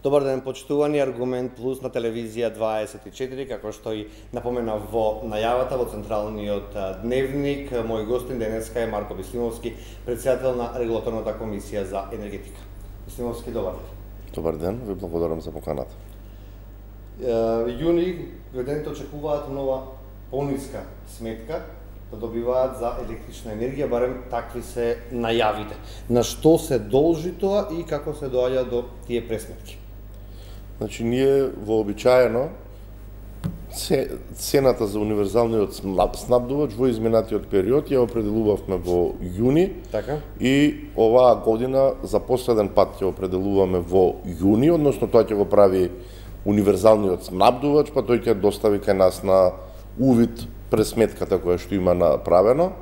Добар ден, почитувани Аргумент Плюс на телевизија 24, како што и напомена во најавата во централниот дневник. Мој гостин денеска е Марко Бислимовски, председател на Регулаторната комисија за енергетика. Бислимовски, добар ден. Добар ден, ви благодарам за поканата. Јуни граѓаните очекуваат нова пониска сметка да добиваат за електрична енергија, барем такви се најавите. На што се должи тоа и како се доаѓа до тие пресметки? Значи, ние вообичаено цената за универзалниот снабдувач во изминатиот период ја определувавме во јуни, така? И оваа година за последен пат ќе определуваме во јуни, односно тоа ќе го прави универзалниот снабдувач, па тој ќе достави кај нас на увид пресметката која што има направено.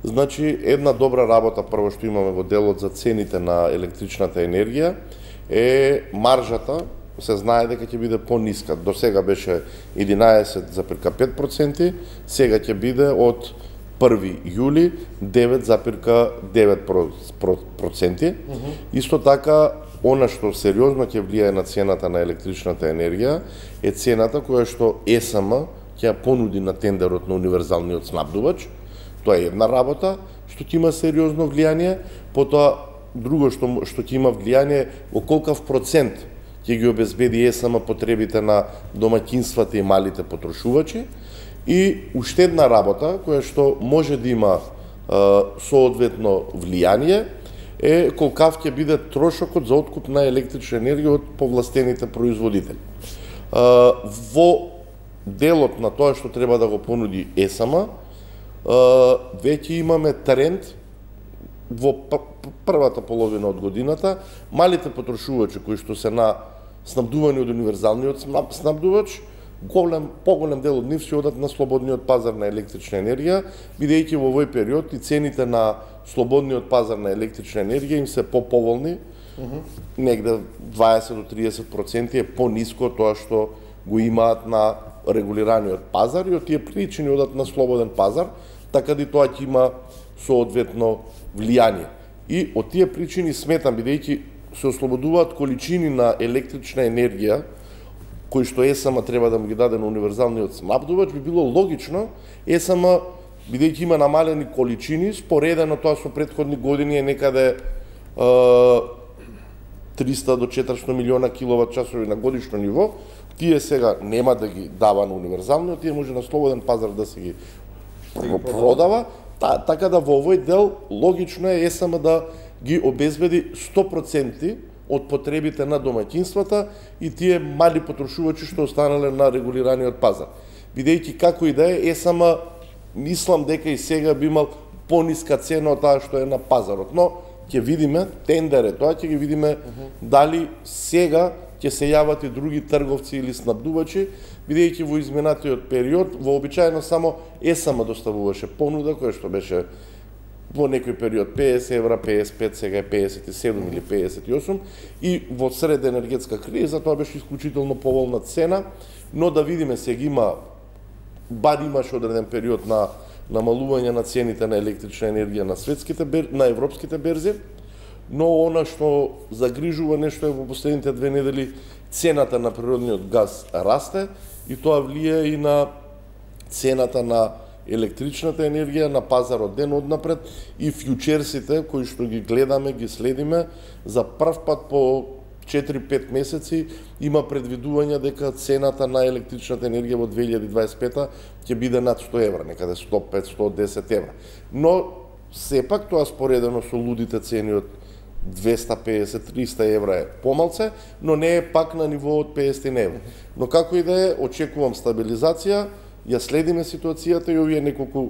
Значи, една добра работа прво што имаме во делот за цените на електричната енергија е маржата. Се знае дека ќе биде пониска. До сега беше 11,5%, сега ќе биде од 1 јули 9,9%. Исто така, она што сериозно ќе влијае на цената на електричната енергија е цената која што ЕСМ ќе ја понуди на тендерот на универзалниот снабдувач. Тоа е една работа што ќе има сериозно влијание, потоа друго што ќе има влијание во колкав процент ќе ги обезбеди ЕСМ потребите на домаќинствата и малите потрошувачи. И уште една работа која што може да има соодветно влијание е колкав ќе биде трошокот за откуп на електрична енергија од повластените производители. Во делот на тоа што треба да го понуди ЕСМ, веќе имаме тренд во првата половина од годината, малите потрошувачи кои што се на снабдувани од универзалниот снабдувач, поголем дел од нив ќе одат на слободниот пазар на електрична енергија, бидејќи во овој период и цените на слободниот пазар на електрична енергија им се поповолни, негде 20 до 30% е пониско од тоа што го имаат на регулираниот пазар, и од тие причини одат на слободен пазар, така да и тоа ќе има соодветно влијание. И од тие причини сметам, бидејќи се ослободуваат количини на електрична енергија кои што ЕСМ треба да му ги даде на универзалниот снабдувач, би било логично ЕСМ, бидејќи има намалени количини, споредено тоа со претходни години е некаде 300 до 400 милиона киловат часови на годишно ниво, тие сега нема да ги дава на универзалниот, тие може на слободен пазар да се ги продава. Така да во овој дел логично е ЕСМ да ги обезбеди 100% од потребите на домаќинствата и тие мали потрошувачи што останале на регулираниот пазар. Бидејќи како и да е, ЕСМ мислам дека и сега би имал пониска цена од таа што е на пазарот, но ќе видиме, тендер е тоа, ќе ги видиме дали сега ќе се јават и други трговци или снабдувачи, бидејќи во изминатиот период вообичаено само ЕСМ доставуваше понуда која што беше во некој период 50 евра, 55, сега е 57 или 58, и во сред енергетска криза тоа беше исклучително поволна цена, но да видиме сега има, бар имаше одреден период на намалување на цените на електрична енергија на на европските берзи, но она што загрижува нешто е во последните 2 недели цената на природниот газ расте и тоа влијае и на цената на електричната енергија на пазарот ден однапред, и фјучерсите кои што ги гледаме, ги следиме, за прв пат по 4-5 месеци има предвидување дека цената на електричната енергија во 2025 ќе биде над 100 евра, некаде 105-110 евра. Но сепак тоа споредено со лудите цени од 250-300 евра е помалце, но не е пак на ниво од 50 евра. Но како и да е, очекувам стабилизација, ја следиме ситуацијата и овие неколку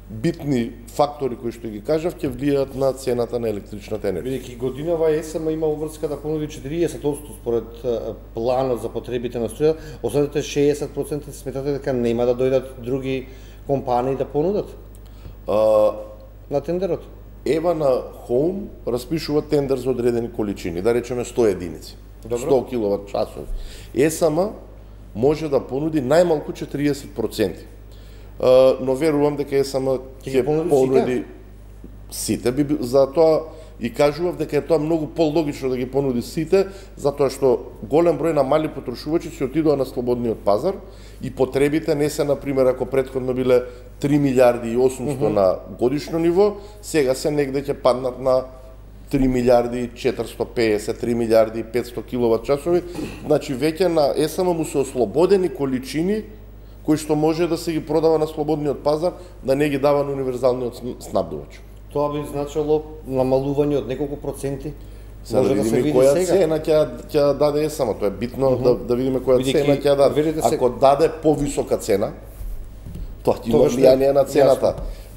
битни фактори кои што ги кажав ќе влијаат на цената на електричната енергија. Бидејќи годинава ЕСМ има обврска да понуди 40% според планот за потребите на струја, останатите 60% сметате дека нема да дојдат други компании да понудат на тендерот? Ева на Home распишува тендер за одредени количини, да речеме 100 единици, 100 киловат часови. ЕСМ може да понуди најмалку 40%. Но верувам дека ЕСМ ќе понуди сите. За тоа и кажував дека е тоа многу пологично да ги понуди сите, затоа што голем број на мали потрошувачи се отидоа на слободниот пазар и потребите не се, например, ако претходно биле 3 милиарди и 800 на годишно ниво, сега се негде ќе паднат на 3 милиарди и 450, 3 милиарди и 500 киловат часови. Значи веќе на ЕСМ му се ослободени количини кои што може да се ги продава на слободниот пазар, да не ги дава на универзалниот снабдувач. Тоа би значило намалување од неколку проценти. Сега да видиме која цена ќе даде ЕСМ, тоа е битно да видиме која цена ќе даде. Ако даде повисока цена, тоа ќе има влијание на цената.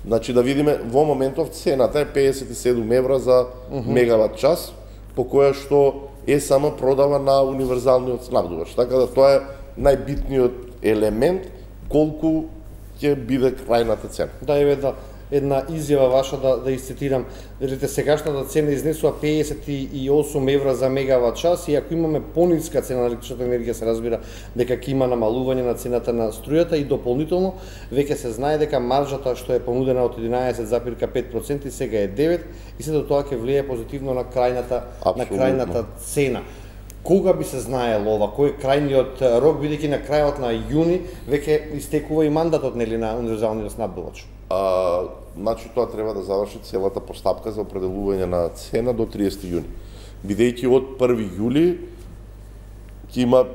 Значи да видиме, во моментов цената е 57 евра за мегават час, по која што ЕСМ продава на универзалниот снабдувач. Така да тоа е најбитниот елемент колку ќе биде крајната цена. Да, еве една изјава ваша да изцитирам. Велите, сегашната цена изнесува 58 евра за мегават час и ако имаме пониска цена на електричната енергија, се разбира дека ќе има намалување на цената на струјата и дополнително веќе се знае дека маржата што е понудена од 11,5% сега е 9 и сето тоа ќе влијае позитивно на крајната цена. Кога би се знаело ова? Кој е крајниот рок, бидејќи на крајот на јуни веќе истекува и мандатот нели на универзалниот снабдувач? Значи тоа треба да заврши целата постапка за определување на цена до 30 јуни. Бидејќи од 1 јули ќе има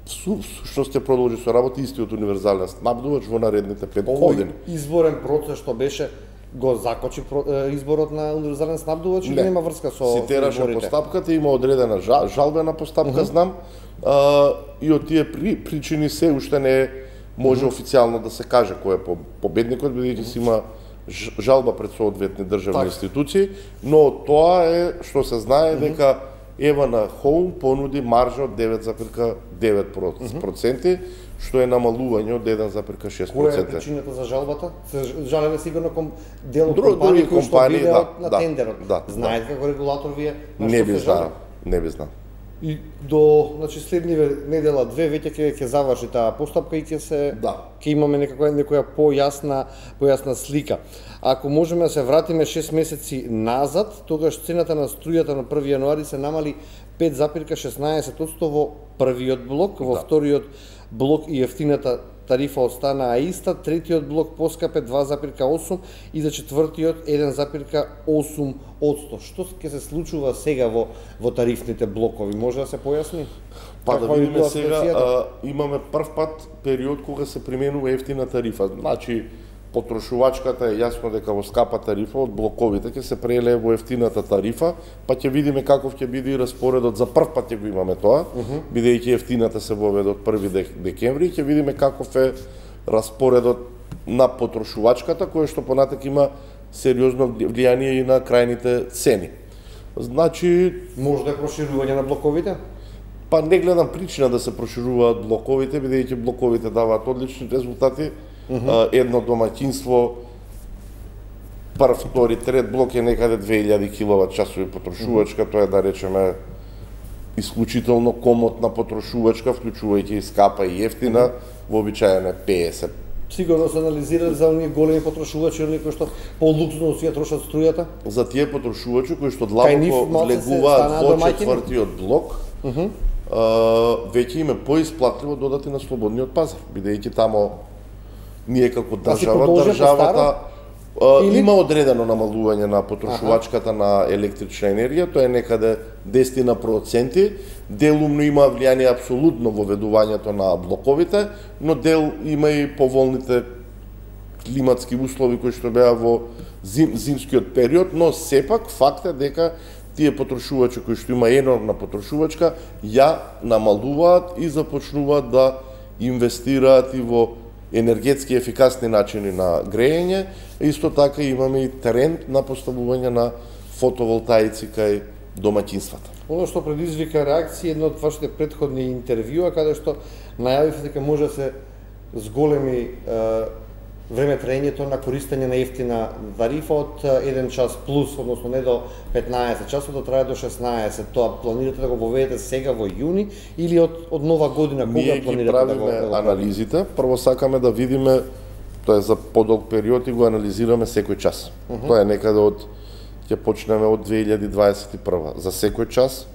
сушност ќе продолжи со работа истиот универзален снабдувач во наредните 5 години. Изборен процес што беше го закочи изборот на универзален снабдувач или нема врска со изборите? Цитираше постапката, има одредена жалбена постапка, знам, и од тие причини се уште не може официјално да се каже кој е победникот, бидејќи си има жалба пред соодветни државни институции, но тоа е што се знае дека Евана Хоум понуди маржа од 9,9%, што е намалување од 1,6%. Која е причината за жалбата? Се жалеле сигурно дел од компании кои што биле на тендерот. Знаете како регулатор вие на што се жалат? Не би знал. И до, значи, следниве недела две веќе ќе заврши таа постапка и ќе имаме некоја појасна слика. Ако можеме да се вратиме 6 месеци назад, тогаш цената на струјата на 1 јануари се намали 5,16% во првиот блок, во вториот блок и ефтината тарифа останаа иста, третиот блок поскапе 2,8 и за четвртиот 1,8%. Што ќе се случува сега во тарифните блокови? Може да се појасни? Па да видиме сега, имаме прв пат период кога се применува ефтина тарифа. Значи, потрошувачката е јасно дека во скапа тарифа од блоковите ќе се прелее во ефтината тарифа, па ќе видиме каков ќе биде и распоредот. За прв пат ќе го имаме тоа, бидејќи ефтината се воведе од 1 декември, ќе видиме каков е распоредот на потрошувачката, кој што понатак има сериозно влијание и на крајните цени. Значи, може да е проширување на блоковите? Па не гледам причина да се прошируваат блоковите, бидејќи блоковите даваат одлични резултати. Едно домаќинство, прв, втори, трет блок е некаде 2000 киловат часови потрошувачка, тоа е да речеме исклучително комотна потрошувачка, вклучувајќи и скапа и ефтина, вообичаено е 50. Сигурно се анализирали за оние големи потрошувачи, оние кои што по-луксузно си ја трошат струјата? За тие потрошувачи кои што длабоко влегуваат во четвртиот блок, веќе им е поисплатливо додати на слободниот пазар, бидејќи тамо ние како државата има одредено намалување на потрошувачката на електрична енергија, тоа е некаде 10%, делумно има влијание апсолутно во ведувањето на блоковите, но дел има и поволните климатски услови кои што беа во зимскиот период, но сепак факт е дека тие потрошувачи кои што има енормна потрошувачка ја намалуваат и започнуваат да инвестираат и во енергетски ефикасни начини на грејење. Исто така имаме и тренд на поставување на фотоволтаици кај домаќинствата. Оно што предизвика реакција едно од вашите претходни интервјуа, каде што најавивте дека може да се зголеми време траењето на користење на ефтина тарифа од 1 час плюс, односно не до 15 часот, да трае до 16. Тоа планирате да го воведете сега во јуни или од нова година? Кога планирате да го правиме анализите? Прво сакаме да видиме, тоа е за подолг период и го анализираме секој час. Тоа е некаде од ќе почнеме од 2021. За секој час,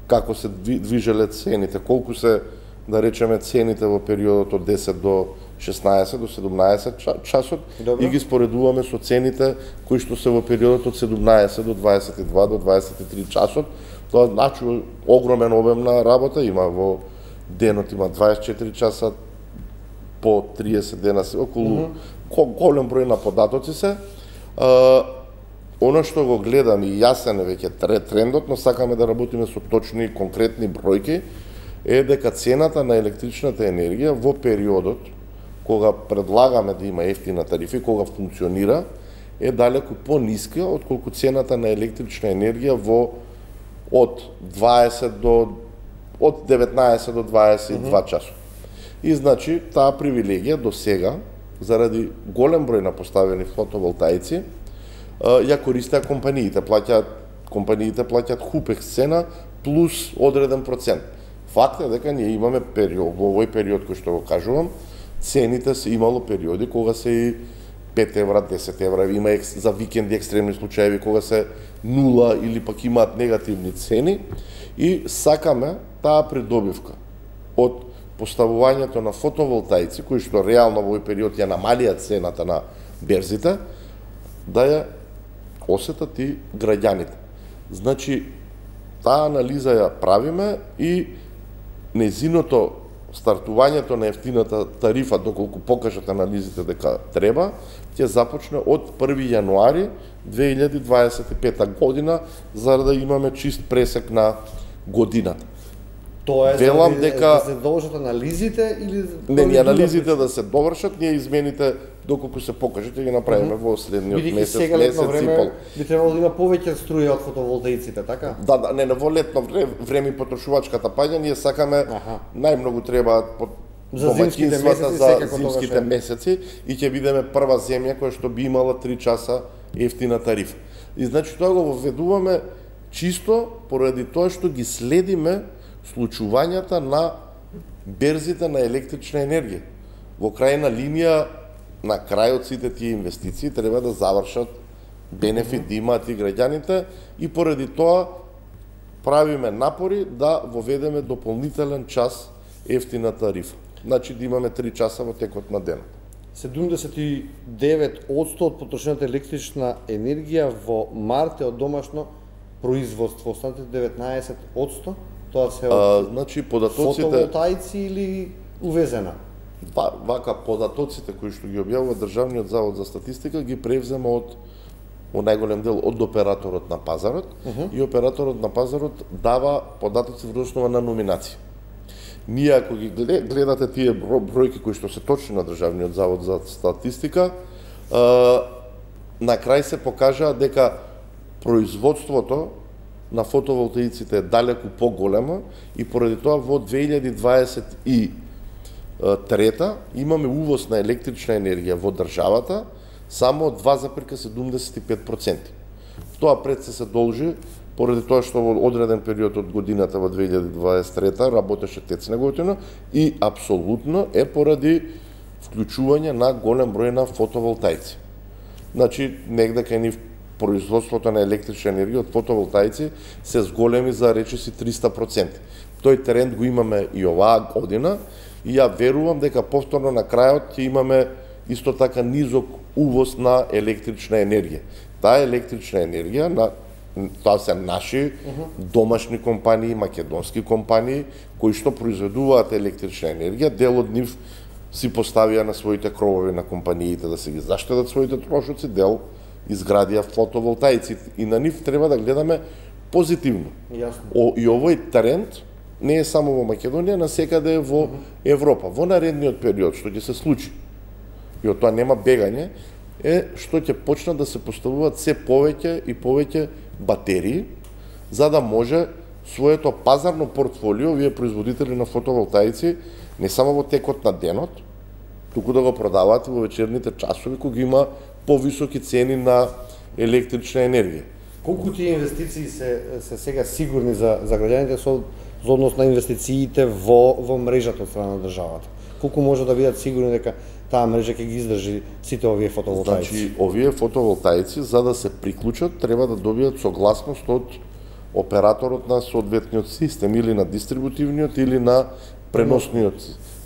како се движеле цените, колку се, да речеме, цените во периодот од 10 до 16 до 17 часот. Добро. И ги споредуваме со цените кои што се во периодот од 17 до 22 до 23 часот. Тоа значи огромен обем на работа, има во денот има 24 часа по 30 дена, околу голем број на податоци се. Оно што го гледам и јасен е веќе трендот, но сакаме да работиме со точни конкретни бројки, е дека цената на електричната енергија во периодот кога предлагаме да има ефтина тарифа и кога функционира, е далеку пониска отколку цената на електрична енергија од 19 до 22 часот. И значи таа привилегија до сега, заради голем број на поставени фотоволтаици, ја користеа компаниите. Компаниите плаќаат хупекс цена плюс одреден процент. Факт е дека ние имаме период, во овој период кој што го кажувам, цените се имало периоди кога се и 5 евра, 10 евра, има за викенди екстремни случаеви кога се 0 или пак имаат негативни цени, и сакаме таа придобивка од поставувањето на фотоволтаици, кои што реално во овој период ја намалија цената на берзите, да ја осетат и граѓаните. Значи, таа анализа ја правиме и незиното стартувањето на ефтината тарифа, доколку покажат анализите дека треба, ќе започне од 1 јануари 2025 година, за да имаме чист пресек на годината. Тоа е велам дека да се довршат анализите или не анализите да се довршат, ние измените доколку се покаже ќе ги направиме во следниот месец, месец и пол. Би требало да има повеќе струја од фотоволтаиците, така? Да, не, во летно време потрошувачката паѓа, ние сакаме најмногу требаат за зимските месеци, за зимските месеци, и ќе бидеме прва земја која што би имала 3 часа ефтина тарифа. И значи тоа го введуваме чисто поради тоа што ги следиме случувањата на берзите на електрична енергија. Во крајна линија, на крај од сите тие инвестиции треба да завршат бенефит да имаат и граѓаните, и поради тоа правиме напори да воведеме дополнителен час ефтина тарифа. Значи да имаме 3 часа во текот на денот. 79% од потрошената електрична енергија во март е од домашно производство, останатите 19% тоа се од значи податоците фотоволтаици или увезена? Вака податоците кои што ги објавува Државниот завод за статистика ги превзема од најголем дел од операторот на пазарот, и операторот на пазарот дава податоци врз основа на номинација. Ние ако ги гледате тие бројки кои што се точни на Државниот завод за статистика, на крај се покажа дека производството на фотоволтаиците е далеку поголемо, и поради тоа во 2023 имаме увоз на електрична енергија во државата само 2,75%. Тоа пред се должи поради тоа што во одреден период од годината во 2023 работеше ТЕЦ Неготино, и апсолутно е поради вклучување на голем број на фотоволтаици. Значи, негде кај нив производството на електрична енергија од фотоволтаици се зголеми за речиси 300%. Тој тренд го имаме и оваа година, и ја верувам дека повторно на крајот ќе имаме исто така низок увоз на електрична енергија. Таа електрична енергија, тоа се наши домашни компании, македонски компании, кои што произведуваат електрична енергија, дел од нив си поставија на своите кровови на компаниите да се ги заштедат своите трошоци, дел изградија фотоволтаици, и на нив треба да гледаме позитивно. Јасно. И овој тренд не е само во Македонија, насекаде во Европа. Во наредниот период што ќе се случи, и од тоа нема бегање, е што ќе почнат да се поставуваат се повеќе и повеќе батерии, за да може своето пазарно портфолио, вие производители на фотоволтаици, не само во текот на денот, туку да го продаваат во вечерните часови, кога има повисоки цени на електрична енергија. Колку тие инвестиции се сега сигурни за граѓаните со однос на инвестициите во мрежата од страна на државата? Колку може да бидат сигурни дека таа мрежа ќе ги издржи сите овие фотоволтаици? Значи, овие фотоволтаици за да се приклучат треба да добијат согласност од операторот на соодветниот систем или на дистрибутивниот или на преносниот.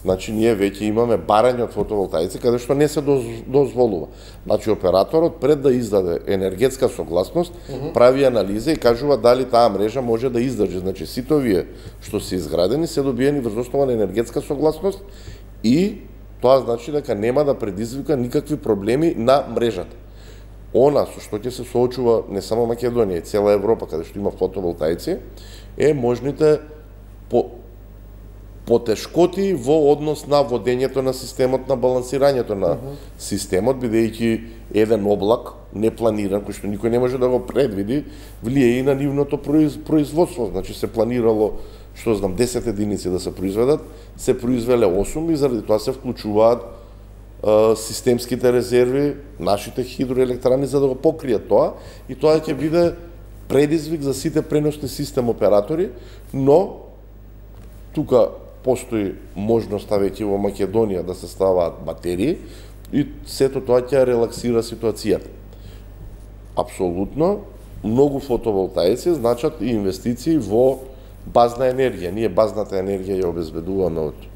Значи, ние веќе имаме барање од фотоволтаици каде што не се дозволува. Значи, операторот пред да издаде енергетска согласност, прави анализа и кажува дали таа мрежа може да издржи. Значи, сите овие што се изградени се добиени врз основа на енергетска согласност и тоа значи дека нема да предизвика никакви проблеми на мрежата. Она со што ќе се соочува не само Македонија, и цела Европа каде што има фотоволтаици, е можните потешкоти во однос на водењето на системот, на балансирањето на системот, бидејќи еден облак непланиран, кој што никој не може да го предвиди, влие и на нивното производство. Значи се планирало, што знам, 10 единици да се произведат, се произвеле 8 и заради тоа се вклучуваат системските резерви, нашите хидроелектрани за да го покријат тоа, и тоа ќе биде предизвик за сите преносни систем оператори, но тука постои можноста веќе во Македонија да се ставаат батерии и сето тоа ќе релаксира ситуацијата. Апсолутно, многу фотоволтаици значат и инвестиции во базна енергија. Ние базната енергија ја обезбедуваме од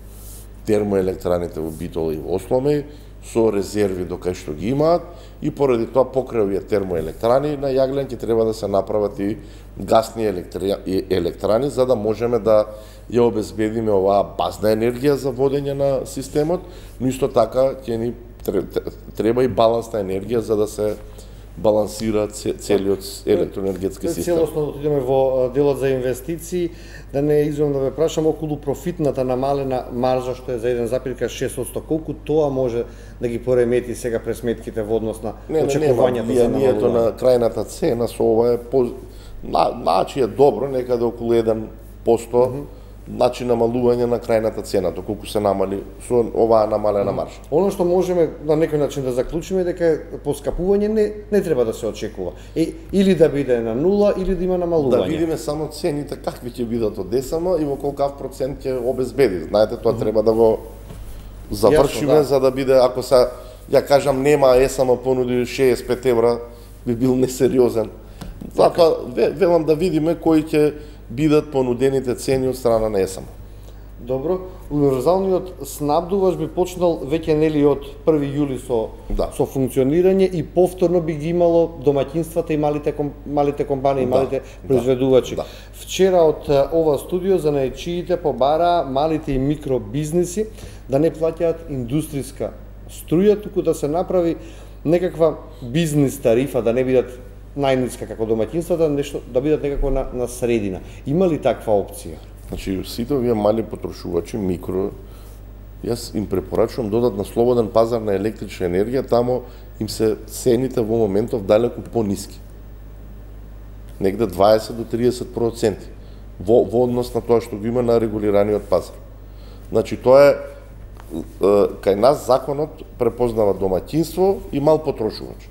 термоелектраните во Битола и во Осломеј, со резерви до кај што ги имаат, и поради тоа покрај овие термоелектрани на Јаглен ќе треба да се направат и гасни електрани за да можеме да ја обезбедиме оваа базна енергија за водење на системот, но исто така ќе ни треба и балансна енергија за да се балансира целиот електроенергетски систем. Целосно да отидеме во делот за инвестиции, да не извам да ве прашам околу профитната намалена маржа што е за 1,6%, колку тоа може да ги поремети сега пресметките во однос на очекувањата за намалување? Влијанието на крајната цена со ова е значи е добро, некаде околу 1%, значи намалување на крајната цена, колку се намали со оваа намалена маржа. Оно што можеме на некој начин да заклучиме дека поскапување не треба да се очекува. Или да биде на нула, или да има намалување. Да видиме само цените какви ќе бидат од ДСМ и во колкав процент ќе обезбеди. Знаете, тоа треба да го завршиме за да биде, ако се, ја кажам, нема ЕСМ понуди 65 евра, би бил несериозен. Затоа велам да видиме кои ќе бидат понудените цени од страна на ЕСМ. Добро, универзалниот снабдувач би почнал веќе нели од 1 јули со функционирање и повторно би ги имало домаќинствата и малите компании, малите произведувачи. Вчера од ова студио занаечиите побара малите и микробизнеси да не плаќаат индустријска струја, туку да се направи некаква бизнис тарифа, да не бидат најниска како домаќинствата, нешто да бидат некако на средина. Има ли таква опција? Значи, сите овие мали потрошувачи, микро, јас им препорачувам додат на слободен пазар на електрична енергија, тамо им се цените во моментов далеку пониски. Негде 20 до 30% во однос на тоа што го има на регулираниот пазар. Значи, тоа е кај нас законот препознава домаќинство и мал потрошувач.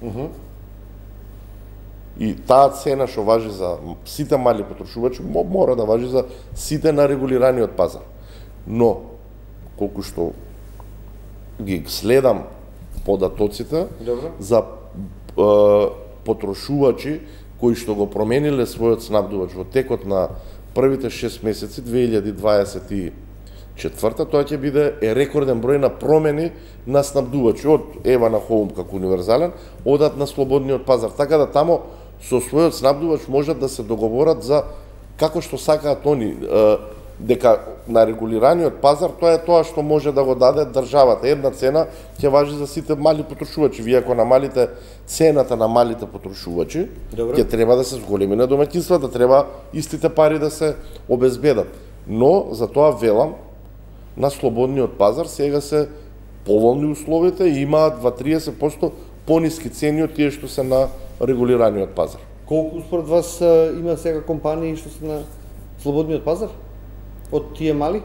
И таа цена што важи за сите мали потрошувачи мора да важи за сите на регулираниот пазар. Но колку што ги следам податоците за потрошувачи кои што го промениле својот снабдувач во текот на првите 6 месеци 2024, тоа ќе биде рекорден број на промени на снабдувачи од Ева на Хоум како универзален, одат на слободниот пазар, така да тамо со својот снабдувач можат да се договорат за како што сакаат они, дека на регулираниот пазар тоа е тоа што може да го даде државата. Една цена ќе важи за сите мали потрошувачи. Вие ако намалите цената на малите потрошувачи, ќе треба да се зголеми на домаќинствата, треба истите пари да се обезбедат. Но за тоа велам, на слободниот пазар сега се поволни условите и имаат 20-30% пониски цени од тие што се на регулираниот пазар. Колку според вас има сега компании што се на слободниот пазар? Од тие мали?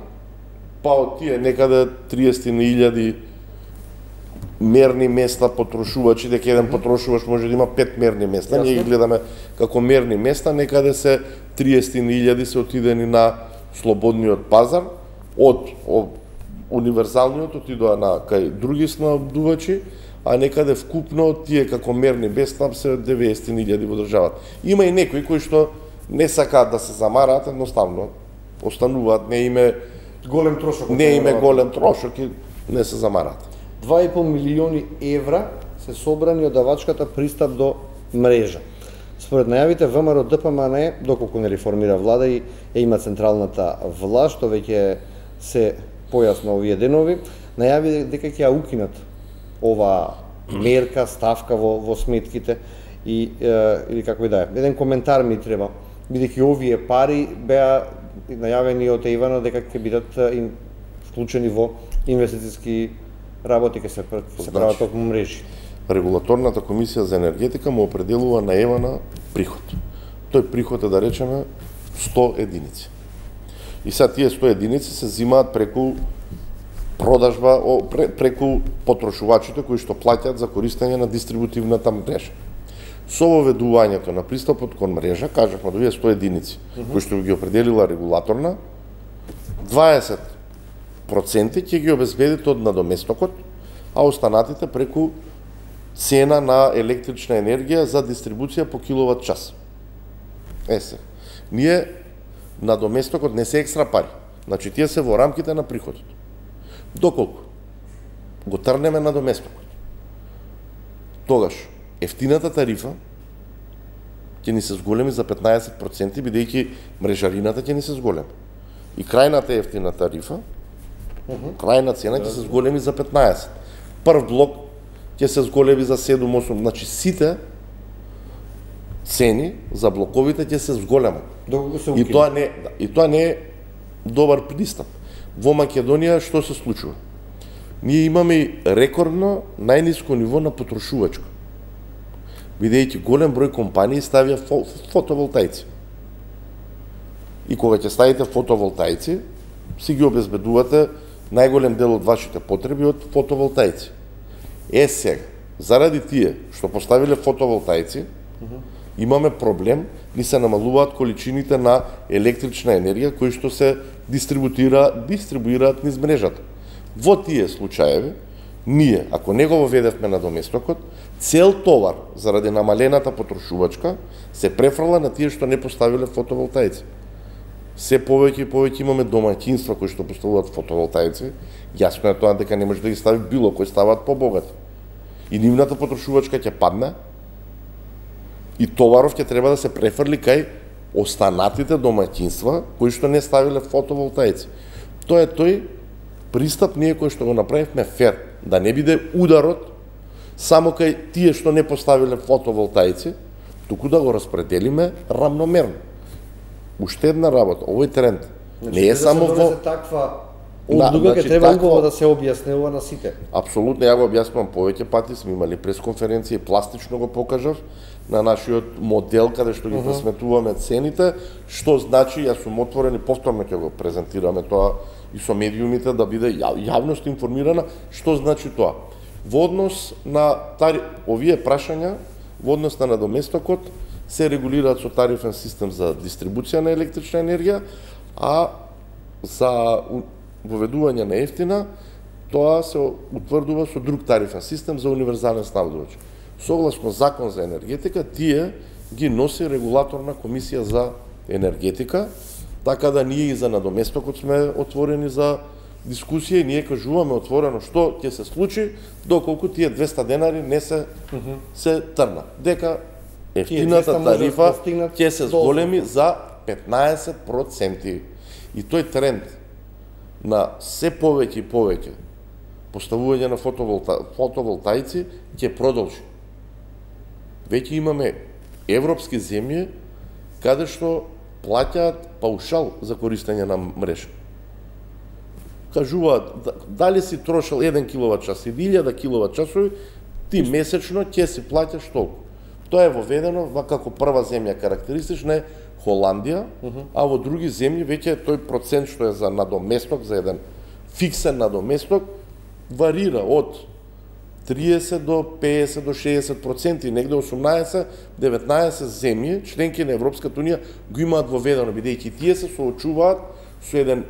Па од тие некаде 30.000 мерни места потрошувачи, дека еден потрошувач може да има 5 мерни места. Ние ги гледаме како мерни места, некаде се 30.000 се отидени на слободниот пазар од универзалниот отидоа на кај други снабдувачи, а некаде вкупно тие како мерни без там се 90.000 во државата. Има и некои кои што не сакаат да се замараат, едноставно остануваат, не име голем трошок. Не име голем трошок и не се замараат. 2,5 милиони евра се собрани од давачката пристап до мрежа. Според најавите ВМРО ДПМН, доколку не реформира влада и има централната власт, што веќе се појасно овие денови, најави дека ќе ја укинат ова мерка, ставка во сметките и или како и да е. Еден коментар ми треба, бидејќи овие пари беа најавени од Ивана дека ќе бидат вклучени во инвестициски работи, ќе се прават токму мрежи. Регулаторната комисија за енергетика му определува на Евана приход. Тој приход е, да речеме, 100 единици. И сега тие 100 единици се взимаат преку продажба, преку потрошувачите кои што плаќаат за користење на дистрибутивната мрежа. Со воведувањето на пристапот кон мрежа, кажавме да 100 единици, кои што ги определила регулаторна, 20% ќе ги обезбедите од надоместокот, а останатите преку цена на електрична енергија за дистрибуција по киловат час. Ние надоместокот не се екстра пари, значи тие се во рамките на приходот. Доколку го трнеме надоместокот, тогаш ефтината тарифа ќе ни се зголеми за 15%, бидејќи мрежарината ќе ни се зголеми. И крајната ефтина тарифа, крајна цена ќе се зголеми за 15%. Прв блок ќе се зголеми за 7-8%, значи сите цени за блоковите ќе се зголемат. И тоа не е добар пристап. Во Македонија што се случува? Ние имаме рекордно најниско ниво на потрошувачко, бидејќи голем број компании ставија фотоволтаици. И кога ќе ставите фотоволтаици, си ги обезбедувате најголем дел од вашите потреби од фотоволтаици. Сега, заради тие што поставиле фотоволтаици, имаме проблем, ни се намалуваат количините на електрична енергија кои што се дистрибуираат низ мрежата. Во тие случаеви, ние, ако не го воведевме на доместокот, цел товар заради намалената потрошувачка се префрла на тие што не поставиле фотоволтаици. Се повеќе и повеќе имаме домаќинства кои што поставуваат фотоволтаици, јасно е тоа дека не може да ги стави било кој, ставаат побогати. И нивната потрошувачка ќе падне, и товаров ќе треба да се префрли кај останатите домаќинства кои што не ставиле фотоволтаици. Тоа е тој пристап ние кој што го направивме фер, да не биде ударот само кај тие што не поставиле фотоволтаици, туку да го распределиме рамномерно. Уште една работа, овој тренд не е само во таква одлука, ќе треба убаво да се објаснува на сите. Апсолутно, ја го објаснувам повеќе пати, сме имали пресконференција и пластично го покажав на нашиот модел каде што ги пресметуваме цените, што значи, јас сум отворен и повторно ќе го презентираме тоа и со медиумите да биде јавност информирана што значи тоа. Во однос на овие прашања, во однос на надоместокот, се регулираат со тарифен систем за дистрибуција на електрична енергија, а за воведување на ефтина, тоа се утврдува со друг тарифен систем за универзален снабдувач. Согласно Закон за енергетика, тие ги носи регулаторна комисија за енергетика, така да ние и за надоместокот сме отворени за дискусија и ние кажуваме отворено што ќе се случи доколку тие 200 денари не се трна. Дека ефтината тарифа ќе се зголеми за 15%. И тој тренд на се повеќе и повеќе поставување на фотоволтаици ќе продолжи. Веќе имаме европски земји каде што плаќаат паушал за користење на мрежа. Кажуваат, дали си трошил 1 киловат час или 1000 киловат часови, ти месечно ќе си плаќаш толку. Тоа е воведено како прва земја карактеристична е Холандија, а во други земји веќе тој процент што е за надоместок, за еден фиксен надоместок, варира од 30 до 50 до 60%, и негде 18-19 земји, членки на Европската унија, го имаат воведено, бидејќи тие се соочуваат со еден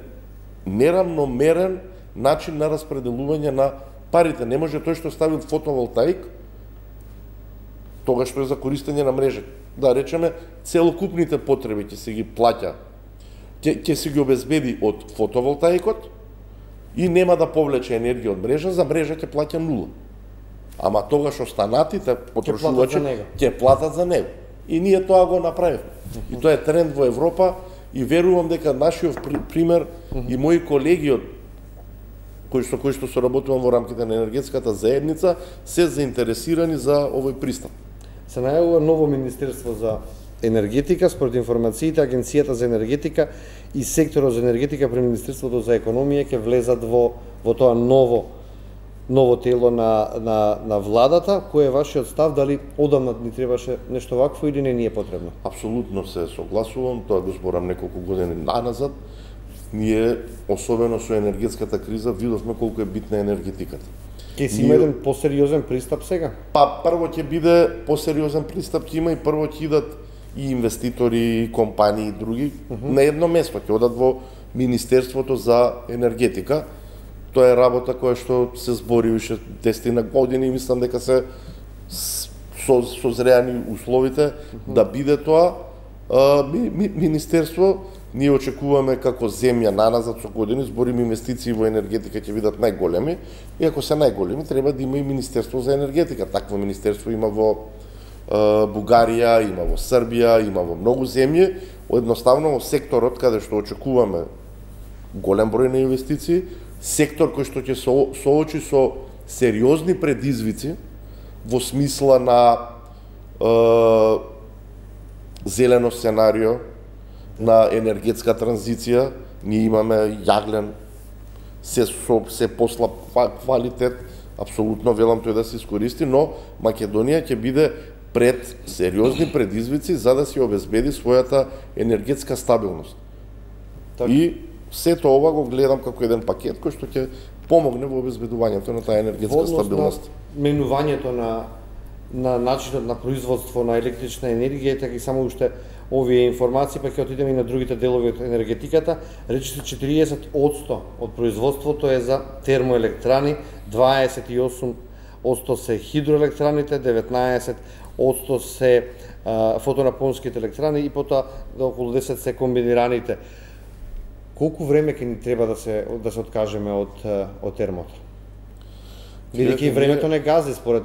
неравномерен начин на распределување на парите. Не може тој што ставил фотоволтаик, тоа што е за користење на мрежа. Да речеме, целокупните потреби ќе се ги плаќа, ќе се ги обезбеди од фотоволтаикот и нема да повлече енергија од мрежа, за мрежа ќе плаќа нула. Ама тогаш останатите потрошувачи ќе платат за него. И ние тоа го направивме. И тоа е тренд во Европа и верувам дека нашиот пример и мои колеги од кои што соработувам во рамките на енергетската заедница се заинтересирани за овој пристап. Се најавува ново Министерство за енергетика, според информациите Агенцијата за енергетика и секторот за енергетика при Министерството за економија ќе влезат во тоа ново тело на владата. Кој е вашиот став, дали одамна ни требаше нешто вакво или не ни е потребно? Апсолутно се согласувам, тоа го зборам неколку години наназад. Ние, особено со енергетската криза, видовме колку е битна енергетиката. Ќе си има еден посериозен пристап сега? Па прво ќе биде посериозен пристап, ќе има и прво ќе идат и инвеститори, и компании и други на едно место, ќе одат во Министерството за енергетика. Тоа е работа која што се збори уште 10 години и мислам дека се созреани условите да биде тоа министерство. Ние очекуваме како земја наназад со години, зборим инвестиции во енергетика ќе бидат најголеми, и ако се најголеми треба да има и Министерство за енергетика. Такво министерство има во Бугарија, има во Србија, има во многу земји. Едноставно во секторот каде што очекуваме голем број на инвестиции, сектор кој што ќе соочи со сериозни предизвици во смисла на зелено сценарио, на енергетска транзиција. Ние имаме јаглен, се послаб квалитет, апсолутно велам тој да се искористи, но Македонија ќе биде пред сериозни предизвици за да се обезбеди својата енергетска стабилност. Так. И сето ова го гледам како еден пакет кој што ќе помогне во обезбедувањето на таа енергетска стабилност. Менувањето на начинот на производство на електрична енергија, така и само уште овие информации, па ќе отидеме и на другите делови од енергетиката. Речите 40% од производството е за термоелектрани, 28% се хидроелектраните, 19% се фотонапонските електрани и потоа околу 10% се комбинираните. Колку време ќе ни треба да се откажеме од термото? Бидејќи времето не гази според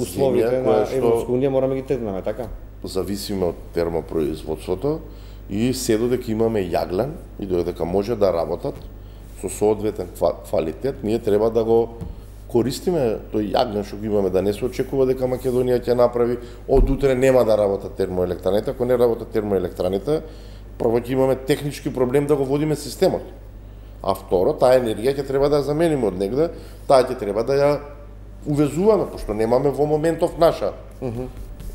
условите на Европска унија, мораме ги тргнеме, така? Зависиме од термопроизводството и се додека имаме јаглен и додека може да работат со соодветен квалитет, ние треба да го користиме тој јаглен што го имаме, да не се очекува дека Македонија ќе направи од утре нема да работат термоелектраните. Ако не работат термоелектраните, прво ќе имаме технички проблем да го водиме системот. А второ, таа енергија ќе треба да ја замениме од негде, таа ќе треба да ја увезуваме, пошто немаме во моментов наша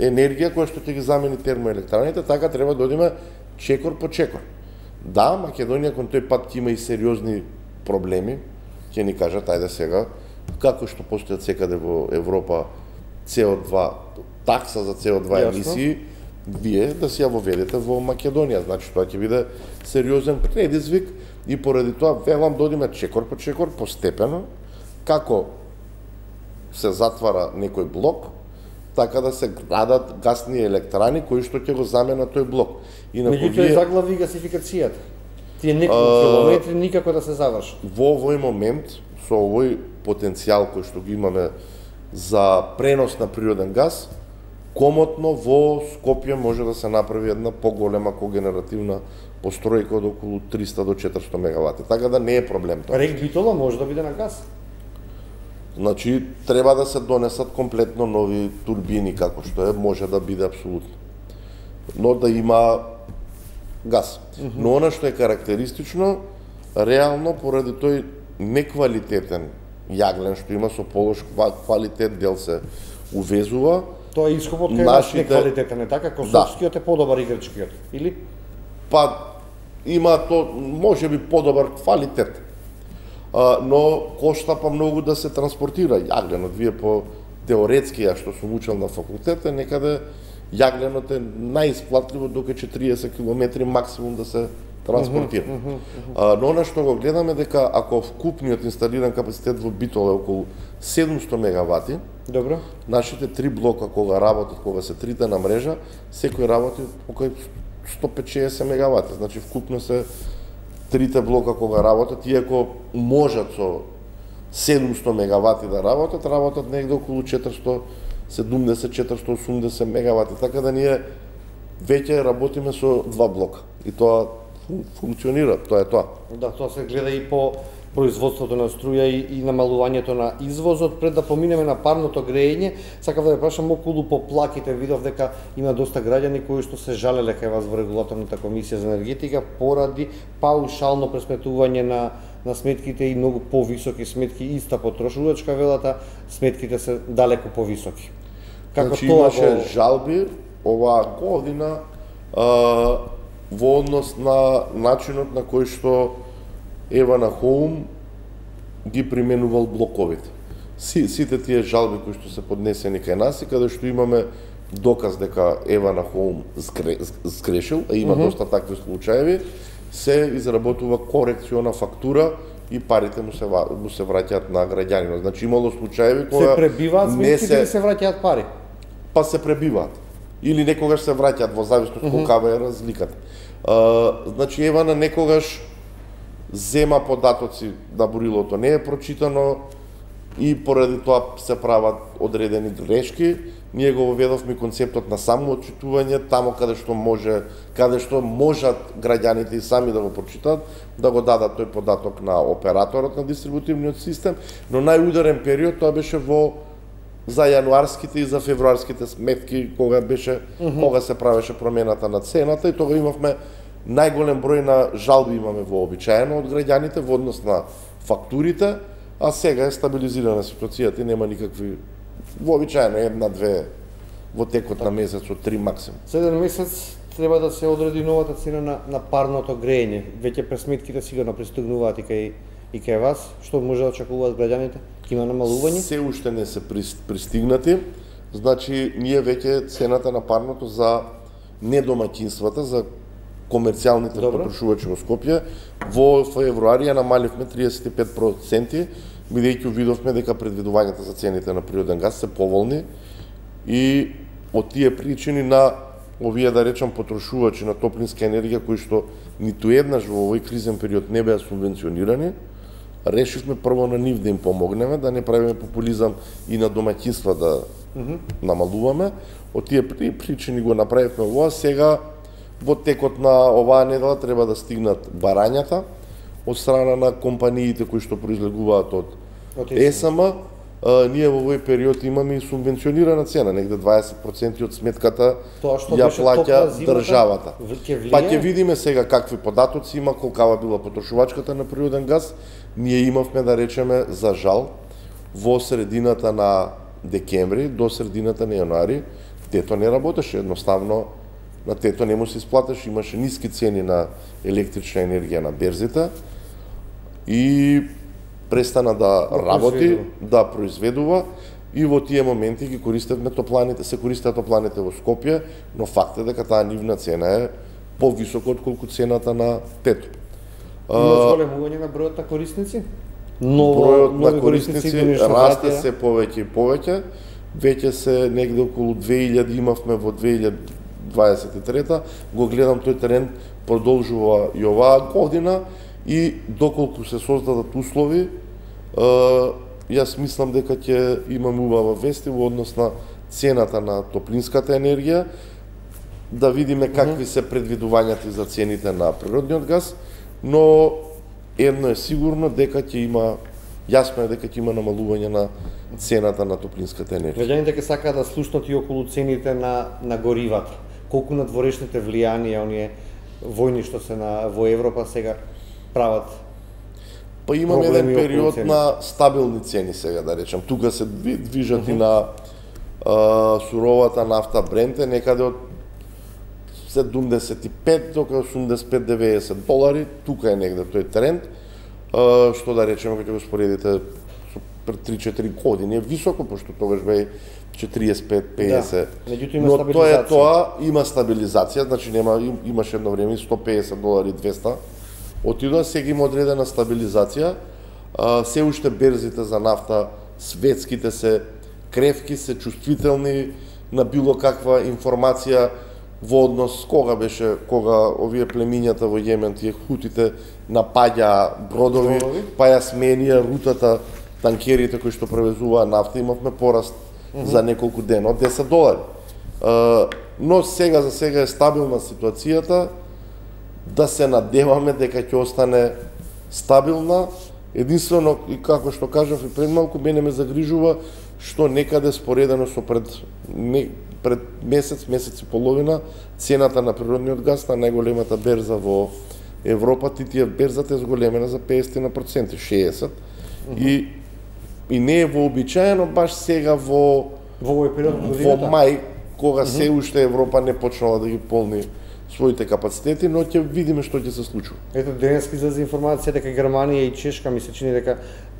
енергија која што ќе ги замени термоелектраните, така треба да одиме чекор по чекор. Да, Македонија кон тој пат ќе има и сериозни проблеми, ќе ни кажат, ајде сега, како што постојат секаде во Европа CO2, такса за CO2 емисии, вие да си ја воведете во Македонија. Значи, тоа ќе биде сериозен предизвик и поради тоа велам да одиме чекор по чекор, постепено, како се затвара некој блок, така да се градат гасни електрани кои што ќе го заменат тој блок. Меѓутоа заглави гасификацијата. Тие неколку километри никако да се завршат. Во овој момент, со овој потенцијал кој што го имаме за пренос на природен газ, комотно во Скопје може да се направи една поголема когенеративна постројка од околу 300 до 400 мегавати. Така да не е проблем тоа. Рек Битола може да биде на газ. Значи, треба да се донесат комплетно нови турбини, како што е, може да биде апсолутно. Но да има газ. Но она што е карактеристично, реално, поради тој неквалитетен јаглен што има со полош квалитет, дел се увезува. Тоа е ископот кај неквалитетен, е така? Косовскиот е подобар и грчкиот, или? Па, има то, може би, подобар квалитет. Но кошта па многу да се транспортира јагленот. Вие по теоретски, ја што сум учел на факултет, некаде јагленото е најисплатливо докато 40 км максимум да се транспортира. Но она што го гледаме дека ако вкупниот инсталиран капацитет во Битола е околу 700 мегавати, добро, нашите 3 блока кога работат, кога се трите на мрежа, секој работи околу 150 мегавати. Значи вкупно се трите блока кога работат, иако можат со 700 мегавати да работат негде околу 470-480 мегавати. Така да ние веќе работиме со 2 блока. И тоа функционира, тоа е тоа. Да, тоа се гледа и по производството на струја и намалувањето на извозот. Пред да поминеме на парното грејење, сакав да ве прашам околу поплаките. Видов дека има доста граѓани кои што се жалеле кај вас во регулаторната комисија за енергетика поради паушално пресметување на сметките и многу повисоки сметки, иста потрошувачка велата, сметките се далеку повисоки. Како значи, тоа имаше жалби оваа година во однос на начинот на кој што Евана Хоум ги применувал блоковите. Сите тие жалби кои што се поднесени кај нас и каде што имаме доказ дека Евана Хоум сгрешил, а има доста такви случаеви, се изработува корекциона фактура и парите му се враќаат на граѓанинот. Значи имало случаеви кога се пребиваат сметките и се враќаат пари. Па се пребиваат. Или некогаш се враќаат во зависност колкава е разликата. Значи Евана некогаш зема податоци на бурилото, не е прочитано и поради тоа се прават одредени грешки. Ние го воведовме концептот на самоотчитување таму каде што можат граѓаните и сами да го прочитаат, да го дадат тој податок на операторот на дистрибутивниот систем, но најударен период тоа беше за јануарските и за февруарските сметки кога се правеше промената на цената и тога имавме најголем број на жалби имаме вообичаено од граѓаните во однос на фактурите, а сега е стабилизирана ситуацијата и нема никакви вообичаено една-две во текот на месец од 3 максимум. Следен месец треба да се одреди новата цена на парното грејење. Веќе пресметките сигурно пристигнуваат и кај вас. Што може да очекуваат граѓаните? Има намалување? Се уште не се пристигнати. Значи, ние веќе цената на парното за недомаќинствата, за комерцијалните потрошувачи во Скопје, во февруари ја намаливме 35%, бидејќи видовме дека предвидувањата за цените на природен газ се поволни и од тие причини на овие, да речам, потрошувачи на топлинска енергија кои што ниту еднаш во овој кризен период не беа субвенционирани, решивме прво на нив да им помогнеме, да не правиме популизам и на домаќинства да намалуваме. Од тие причини го направивме ова. Сега во текот на оваа недела треба да стигнат барањата од страна на компаниите кои што произлегуваат од ЕСМ. Ние во овој период имаме и субвенционирана цена, негде 20% од сметката ја плаќа државата. Па ќе видиме сега какви податоци има, колкава била потрошувачката на природен газ. Ние имавме, да речеме, за жал, во средината на декември до средината на јануари, тето не работеше, едноставно на тето не му се исплатеше, имаше ниски цени на електрична енергија на берзите и престана да работи, да произведува и во тие моменти ги користевме топланите, се користеа топланите во Скопје, но факт е дека таа нивна цена е повисока отколку цената на тето. Има зголемување на бројот на корисници? Бројот на корисници расте се повеќе и повеќе. Веќе се негде околу 2000 имавме во 2023. Го гледам тој тренд продолжува и оваа година и доколку се создадат услови, јас мислам дека ќе имаме убава вести во однос на цената на топлинската енергија, да видиме какви се предвидувањата за цените на природниот газ, но едно е сигурно дека ќе има, јасно е дека ќе има намалување на цената на топлинската енергија. Граѓаните ќе сакаат да слушнат и околу цените на горивата. Колку надворешните влијанија оние војни што се во Европа сега прават? Па имаме еден период на стабилни цени сега, да речем. Тука се движат и на суровата нафта Бренте, некаде од 75 до 85-90 долари, тука е негде тој тренд, што да речеме, кога го споредите со пред 3-4 години е високо, пошто тогаш бе 45-50. Меѓутоа има Но стабилизација. тоа има стабилизација, значи имаше едно време $150, 200. Отидоа, сега има одредена стабилизација. Се уште берзите за нафта светските се кревки, се чувствителни на било каква информација во однос кога овие племињата во Јемен, тие хутите напаѓа бродови, па ја сменија рутата танкерите кои што превезуваа нафта, имавме пораст за неколку дена од $10. Но сега за сега е стабилна ситуацијата, да се надеваме дека ќе остане стабилна. Единствено, и како што кажав и пред малку, мене ме загрижува што некаде споредено со пред месец и половина, цената на природниот газ на најголемата берза во Европа, берзата е зголемена за 50%, 60%, и не е вообичаено баш сега во мај, кога се уште Европа не почнала да ги полни своите капацитети, но ќе видиме што ќе се случува. Ето, денеска излезе информација дека Германија и Чешка ми се чини дека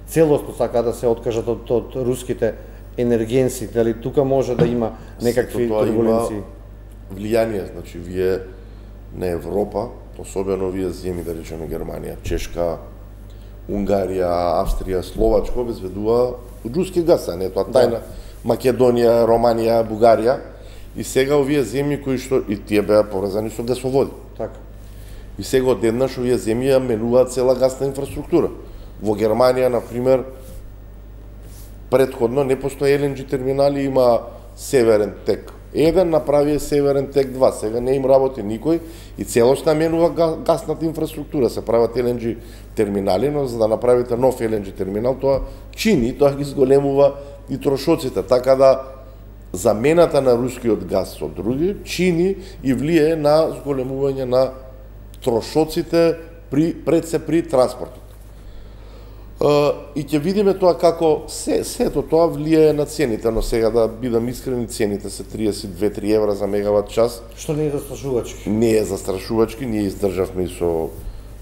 целосно сака да се откажат од руските енергенси, дали тука може да има некакви турбуленции? Влијание, значи вие на Европа, особено вие земји, да речеме Германија, Чешка, Унгарија, Австрија, Словачка обезбедува руски газ, а не тоа тајна. Македонија, Романија, Бугарија. И сега овие земји кои што и тие беа поврзани со гасоводи. Така. И сега одеднаш овие земји ја менуваат цела гасна инфраструктура. Во Германија, на пример, претходно не постои LNG терминали, има Северен тек 1, направи Северен тек 2, сега не им работи никој и целосно менува гасната инфраструктура, се прават LNG терминали, но за да направите нов LNG терминал, тоа тоа ги зголемува и трошоците, така да замената на рускиот газ со други чини и влие на зголемување на трошоците при транспортот. И ќе видиме тоа како сето тоа влијае на цените, но сега да бидам искрени, цените се 32-3 евра за мегават час. Што не е застрашувачки? Не е застрашувачки, ние издржавме и со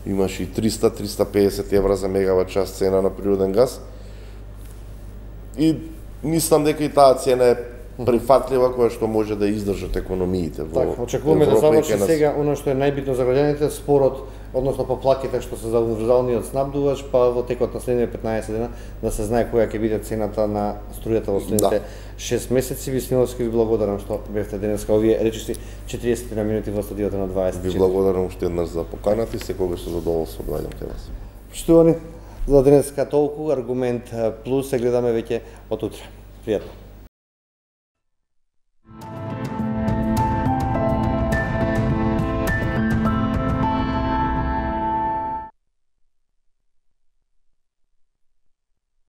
имаше и 300-350 евра за мегават час цена на природен газ. И мислам дека и таа цена е прифатлива, која што може да издржат економиите во Европа. Очекуваме да заврши сега она што е најбитно за граѓаните, спорот, односно поплаките што се за универзалниот снабдувач, па во текот на следните 15 дена да се знае која ќе биде цената на струјата во следните 6 месеци. Висниновски, ви благодарам што бевте денеска овие речиси 40 минути во студиото на 20. Ви благодарам уште еднаш за поканата и секогаш со задоволство доаѓам кај вас. Поштувани, за денеска толку, Аргумент Плюс се гледаме веќе од утре. Пријатно.